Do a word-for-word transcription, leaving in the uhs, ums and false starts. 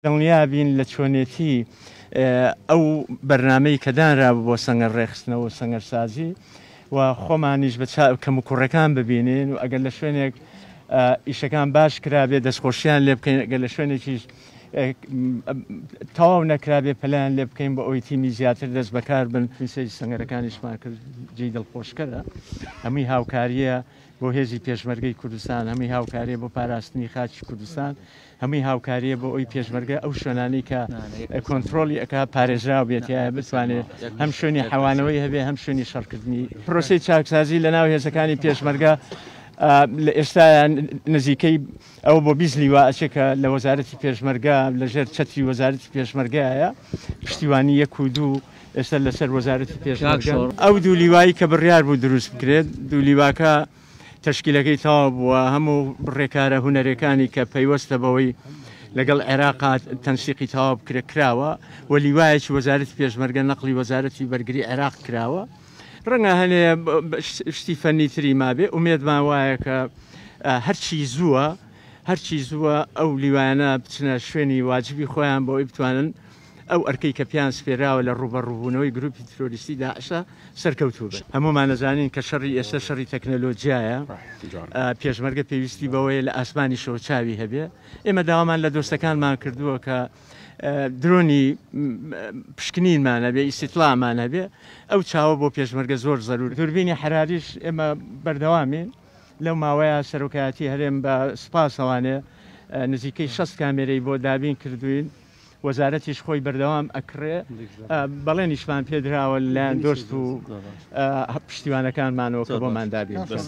دڵنیا بین لە چۆنێتی ئەو بەرنامەی کە دانرابوو بۆ سەنگەر ڕێکخستنەوە و سەنگەرسازی و خۆمانیش بە کەموکوڕەکان ببینین و ئەگەر لە شوێنێک ئیشەکان باش کرابێ دەستخۆشیان لێ بکەین، ئەگەر لە شوێنێکیش تەواو نەکرابێ پەلیان لێ بکەین بۆ ئەوەی تیمی زیاتر دەست بەکار بن. سەیری سەنگەرەکانیشمان کرد، جێی دڵخۆشکەرە، هەمووی هاوکاریە بۆ هێزی پێشمەرگەی کوردستان، هەمووی هاوکاریە بۆ پاراستنی خاکی کوردستان، هەمووی هاوکاریە بۆ ئەوی پێشمەرگە ئەو شوێنانەی کە کۆنترۆڵی ئەکا پارێزراو بێت، یا بتوانێت هەم شوێنی حەوانەوەی هەبێ هەم شوێنی شەڕکردنی. پرۆسەی چاکسازی لە ناو هێزەکانی پێشمەرگە لە ئێستا نزیکەی ئەو بۆ بیست لیوا ئەچێ کە لە وەزارەتی پێشمەرگە لەژێر چەتری وەزارەتی پێشمەرگایە، پشتیوانی یەک و دوو ئێستا لەسەر وەزارەتی پێشمەرگە. ئەو دوو لیوایی کە بڕیار بوو دروست بکرێت، دوو لیواکە تەشکیلەکەی تەواو بووە، هەموو ڕێکارە هونەرەکانی کە پەیوەستە بەوەی لەگەڵ عێراقا تەنسیقی تەواو بکرێت کراوە و لیوایەکی وەزارەتی پێشمەرگە نەقلی وەزارەتی بەرگری عێراق کراوە. ڕەنگە هەنێ شتی فەنی تری مابێ، ئومێدمان وایە کە هەرچی زووە هەرچی زووە ئەو لیوایانە بچنە شوێنی واجبی خۆیان بۆ ئەوەی بتوانن ئەو ئەرکەی کە پیان سپێراوە لە ڕووبەڕووبوونەوەی گروپی ترۆریستی داعشە سەرکەوتوو بن. هەمومان نەزانین کە شەڕی ئێستا شەڕی تەکنەلۆژیایە، پێشمەرگە پێویستی بەوەیە لە ئاسمانیشەوە چاوی هەبێ. ئێمە داوامان لە دۆستەکانمان کردووە کە درۆنی پشکنینمان هەبێ، ئیسیتلامان هەبێ، ئەو چاوە بۆ پێشمەرگە زۆر زەرور. دوربینی حراریش ئێمە بەردەوامین لەو ماوەیە سەرۆکایەتی هەرێم بە سوپاسەوانێ نزیکەی شەست کامێرەی بۆ دابین کردوین، وەزارەتیش خۆی بەردەوام ئەکڕێ، بەڵێنیشمان پێدراوە لەلایەن دۆست و پشتیوانەکانمانەوە کە بۆمان دابین بکەن.